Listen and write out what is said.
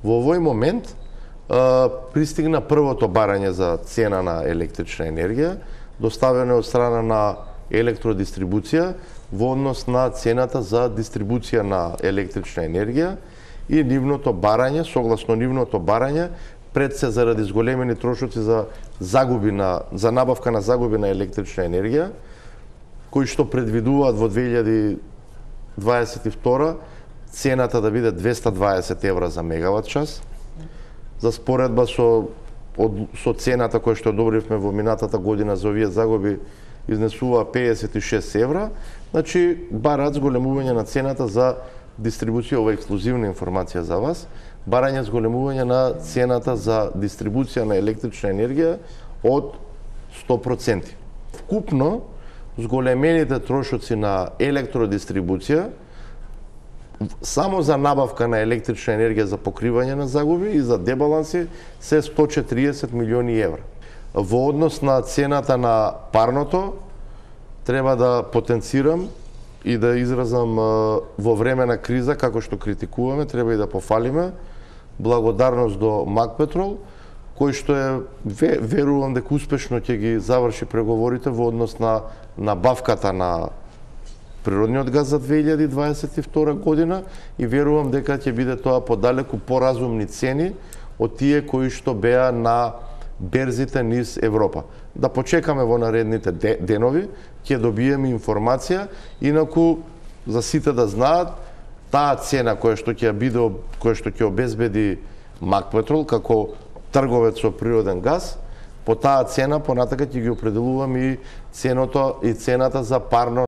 Во овој момент пристигна првото барање за цена на електрична енергија, доставено од страна на електродистрибуција во однос на цената за дистрибуција на електрична енергија и нивното барање, согласно нивното барање, пред се заради зголемени трошоци за набавка на загуби на електрична енергија, кои што предвидуваат во 2022 цената да биде 220 евра за мегават час. За споредба со цената која што одобривме во минатата година за овие загуби изнесува 56 евра, значи бараат зголемување на цената за дистрибуција, ова ексклузивна информација за вас, барање зголемување на цената за дистрибуција на електрична енергија од 100%. Вкупно, зголемените трошоци на електродистрибуција само за набавка на електрична енергија за покривање на загуби и за дебаланси се 140 милиони евра. Во однос на цената на парното, треба да потенцирам и да изразам во време на криза, како што критикуваме, треба и да пофалиме благодарност до Макпетрол, кој што верувам дека успешно ќе ги заврши преговорите во однос на набавката на природниот газ за 2022 година и верувам дека ќе биде тоа подалеку поразумни цени од тие кои што беа на берзите низ Европа. Да почекаме во наредните денови, ќе добиеме информација, инаку за сите да знаат, таа цена која што ќе обезбеди Макпетрол како трговец со природен газ, по таа цена понатака ќе ги определувам и цената за парно